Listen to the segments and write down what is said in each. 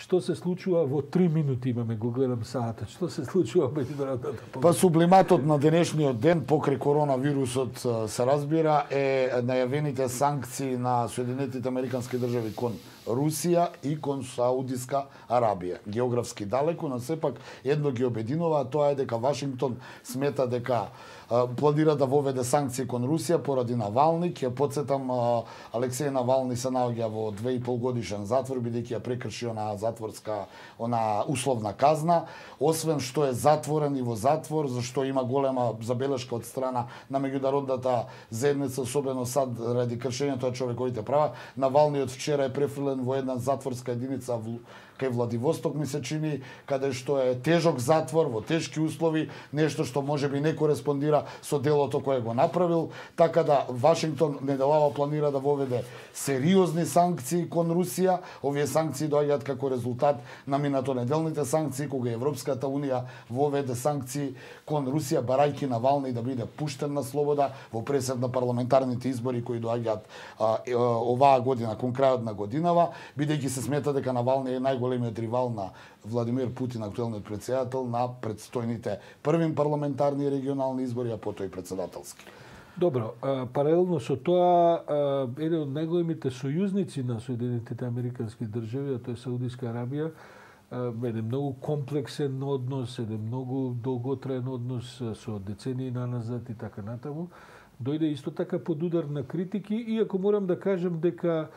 што се случува во 3 минути, имаме го гледам саатот, што се случува во меѓународната политика? Па сублиматот на денешниот ден покрај коронавирусот се разбира е најавените санкции на Соединетите Американски држави кон Русија и кон Саудиска Арабија. Географски далеку, но сепак едно ги обединува, тоа е дека Вашингтон смета дека планира да воведе санкции кон Русија поради Навални. Ќе потсетам, Алексеј Навални се наоѓа во 2,5 годишен затвор, бидејќи ја прекрши она условна казна. Освен што е затворен и во затвор, зашто има голема забелешка од страна на меѓународната заедница, особено САД, ради кршењето на човековите права. Навални од вчера е префрлен во една затворска единица кај Владивосток, ми се чини, каде што е тежок затвор, во тешки услови, нешто што можеби не кореспондира со делото кое го направил, така да Вашингтон неделава планира да воведе сериозни санкции кон Русија. Овие санкции доаѓаат како резултат на минатонеделните санкции, кога Европската унија воведе санкции кон Русија, барајки Навални да биде пуштен на слобода во пресед на парламентарните избори кои доаѓаат оваа година, кон крајот на годинава, бидејќи се смета дека Навални е најголемиот ривал на Владимир Путин, актуелниот претседател на предстојните првим парламентарни и регионални избори, а потоа и претседателски. Добро, паралелно со тоа, еден од најголемите сојузници на Соединетите Американски држави, а тоа е Саудиска Арабија, еден многу комплексен однос, еден многу долготраен однос со децении наназад и така натаму, дојде исто така под удар на критики, иако морам да кажам дека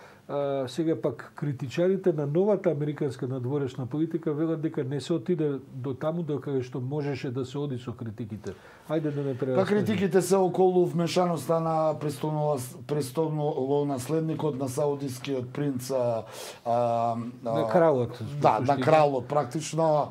сега пак критичарите на новата американска надворешна политика велат дека не се отиде до таму до каде што можеше да се оди со критиките. Ајде да не прераскажеме. Па критиките се околу вмешаноста на престолонаследникот на саудискиот принц на кралот. Да, на кралот практично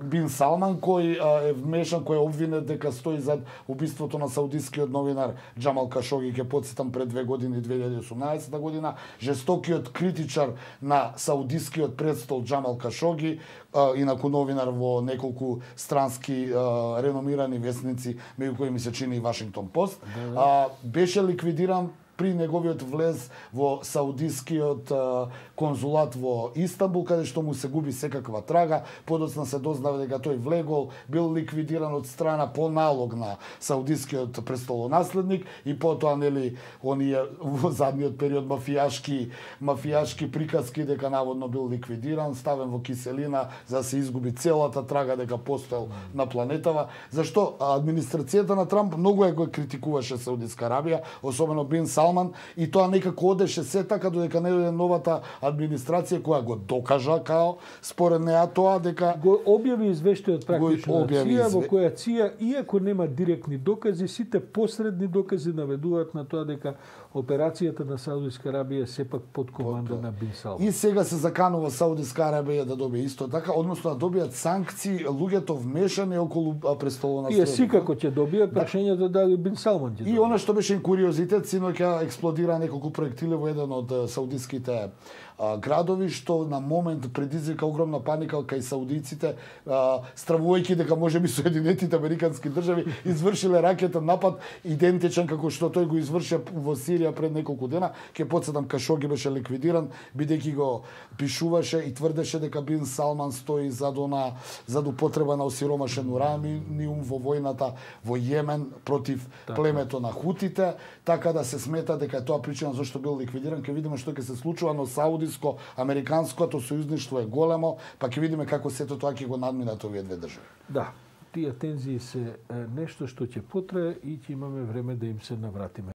Бин Салман кој е вмешан, кој е обвинет дека стои зад убиството на саудискиот новинар Џамал Кашоги, ќе потсетам пред 2 години, 2018 година. Жестокиот критичар на саудискиот престол Џамал Кашоги, инаку новинар во неколку странски реномирани весници, меѓу кои ми се чини и Вашингтон Пост, беше ликвидиран при неговиот влез во саудискиот конзулат во Истанбул, каде што му се губи секаква трага. Подоцна се дознава дека тој влегол, бил ликвидиран од страна по налог на саудискиот престолонаследник и потоа нели оние во задниот период мафијашки приказки дека наводно бил ликвидиран, ставен во киселина за да се изгуби целата трага дека постоел на планетава. Зашто администрацијата на Трамп многу го критикуваше Саудиска Арабија, особено Бин Салман, и тоа некако одеше се така додека не дојде новата администрација која го докажа као според неа тоа дека го објави извештајот практично на ЦИА, во која ЦИА, иако нема директни докази, сите посредни докази наведуваат на тоа дека операцијата на Саудиска Арабија сепак под команда на Бин Салман. И сега се заканува Саудиска Арабија да добие исто така, односно да добијат санкции луѓето вмешани околу престолонаследникот. И секако ќе добијат прашањето дали Бин Салман ќе добие. И она што беше куриозитет, синоќа експлодира неколку проектили во еден од саудиските градови, што на момент предизвика огромна паника кај саудиците, стравувајќи дека можеби Соединетите Американски држави извршиле ракетен напад идентичен како што тој го изврши во Сирија пред неколку дена. Ќе потсетам, Кашоги беше ликвидиран бидејќи го пишуваше и тврдеше дека Бин Салман стои зад употреба на осиромашен ураниум во војната во Јемен против племето на хутите, така да се смета дека е тоа причина зашто бил ликвидиран. Ќе видиме што ќе се случува, но саудиско-американското сојузништво е големо, па ќе видиме како сето тоа ќе го надминат овие две држави. Да, тие тензии се нешто што ќе потрае и ќе имаме време да им се навратиме.